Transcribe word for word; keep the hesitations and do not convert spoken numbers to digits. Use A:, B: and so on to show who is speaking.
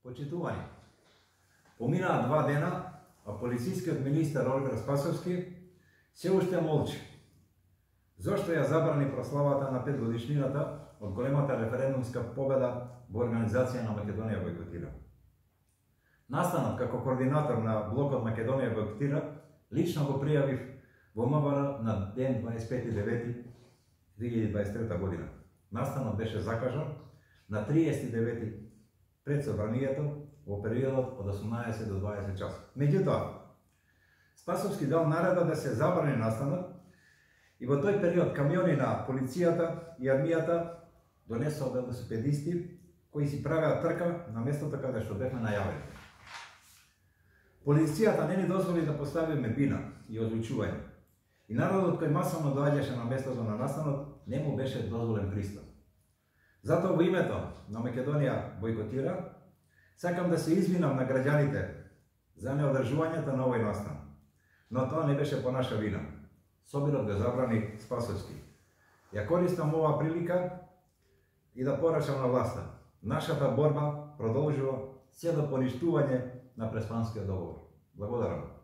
A: Почитувани, поминаа два дена, а полицискиот министер Олгар Спасовски се уште молчи. Зошто ја забрани прославата на петгодишнината од големата референдумска победа во организација на Македонија бойкотира? Настанот како координатор на блокот Македонија бойкотира лично го пријавив во МВР на ден дваесет и пети девети две илјади и дваесет и трета година. Настанот беше закажан на триесет и девети пред собранието во периодот од осумнаесет до дваесет часот. Меѓутоа, Спасовски дал наредба да се забрани настанот и во тој период камиони на полицијата и армијата донесоа велосипедисти кои си правеа трка на местото каде што бевме најавени. Полицијата не ни дозволи да поставиме бина и озвучување. И народот кој масовно доаѓаше на местото на настанот не му беше дозволен пристап. Затоа во името на Македонија бойкотира, сакам да се извинам на граѓаните за неодржувањето на овој настан. Но тоа не беше по наша вина. Собирот го забрани Спасовски. Ја користам оваа прилика и да порачам на власта. Нашата борба продолжува се до поништување на Преспанскиот договор. Благодарам.